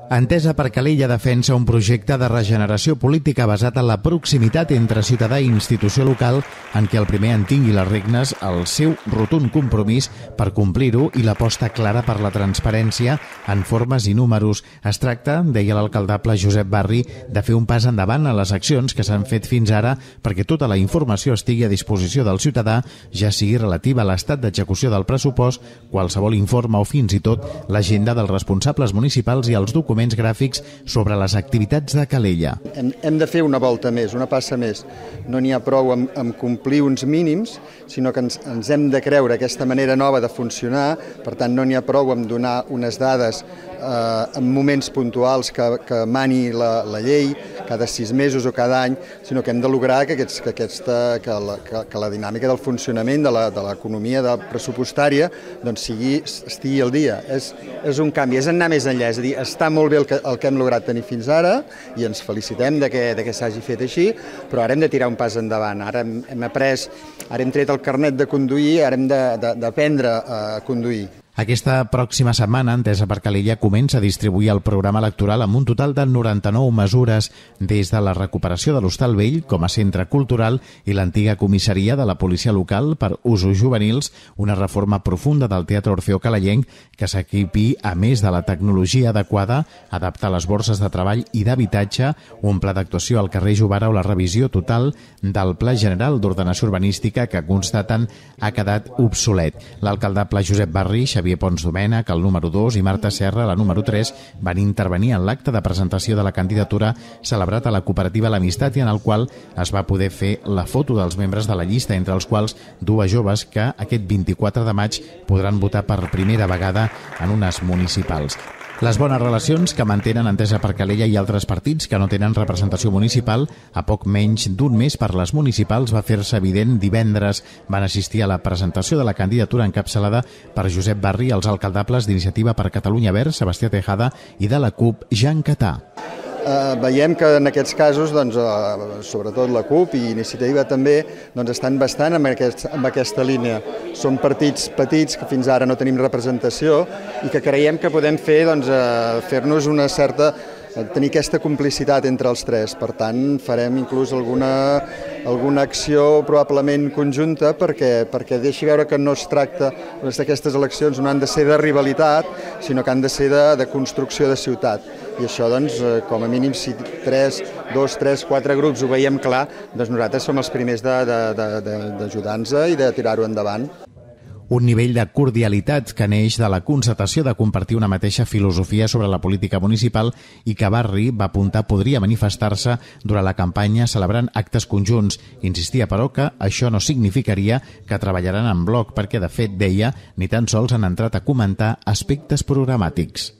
Entesa per Calella defensa un projecte de regeneració política basat en la proximitat entre ciutadà i institució local en què el primer en tingui les regnes el seu rotund compromís per complir-ho i l'aposta clara per la transparència en formes i números. Es tracta, deia l'alcaldable Josep Barri, de fer un pas endavant a les accions que s'han fet fins ara perquè tota la informació estigui a disposició del ciutadà, ja sigui relativa a l'estat d'execució del pressupost, qualsevol informe o fins i tot l'agenda dels responsables municipals i els documents gràfics sobre les activitats de Calella. Hem de fer una volta més, una passa més. No n'hi ha prou amb complir uns mínims, sinó que ens hem de creure aquesta manera nova de funcionar. Per tant, no n'hi ha prou amb donar unes dades en moments puntuals que mani la llei, cada 6 mesos o cada any, sinó que hem de lograr que la dinàmica del funcionament de l'economia pressupostària estigui al dia. És un canvi, és anar més enllà, és a dir, està molt bé el que hem lograt tenir fins ara i ens felicitem de que s'hagi fet així, però ara hem de tirar un pas endavant. Ara hem tret el carnet de conduir, ara hem d'aprendre a conduir. Aquesta pròxima setmana, Entesa per Calella comença a distribuir el programa electoral amb un total de 99 mesures, des de la recuperació de l'Hostal Vell com a centre cultural i l'antiga comissaria de la policia local per usos juvenils, una reforma profunda del Teatre Orfeó Calellenc que s'equipi a més de la tecnologia adequada, adaptar les borses de treball i d'habitatge, un pla d'actuació al carrer Jovara o la revisió total del Pla General d'Ordenació Urbanística que constaten ha quedat obsolet. L'alcaldable Josep Barri, Xavier Pons Domènech, el número 2, i Marta Serra, la número 3, van intervenir en l'acte de presentació de la candidatura celebrat a la cooperativa L'Amistat i en el qual es va poder fer la foto dels membres de la llista, entre els quals dues joves que aquest 24 de maig podran votar per primera vegada en unes municipals. Les bones relacions que mantenen Entesa per Calella i altres partits que no tenen representació municipal, a poc menys d'un mes per les municipals, va fer-se evident divendres. Van assistir a la presentació de la candidatura encapçalada per Josep Barri, els alcaldables d'Iniciativa per Catalunya Verds, Sebastià Tejada, i de la CUP, Jean Catà. Veiem que en aquests casos, sobretot la CUP i Iniciativa també, estan bastant en aquesta línia. Són partits petits que fins ara no tenim representació i que creiem que podem fer-nos una certa tenir aquesta complicitat entre els tres. Per tant, farem inclús alguna acció probablement conjunta perquè deixi veure que no es tracta, aquestes eleccions no han de ser de rivalitat, sinó que han de ser de construcció de ciutat. I això, com a mínim, si 2, 3, 4 grups ho veiem clar, nosaltres som els primers d'ajudar-nos i de tirar-ho endavant. Un nivell de cordialitat que neix de la constatació de compartir una mateixa filosofia sobre la política municipal i que Barri va apuntar podria manifestar-se durant la campanya celebrant actes conjunts. Insistia, però, que això no significaria que treballaran en bloc perquè, de fet, deia, ni tan sols han entrat a comentar aspectes programàtics.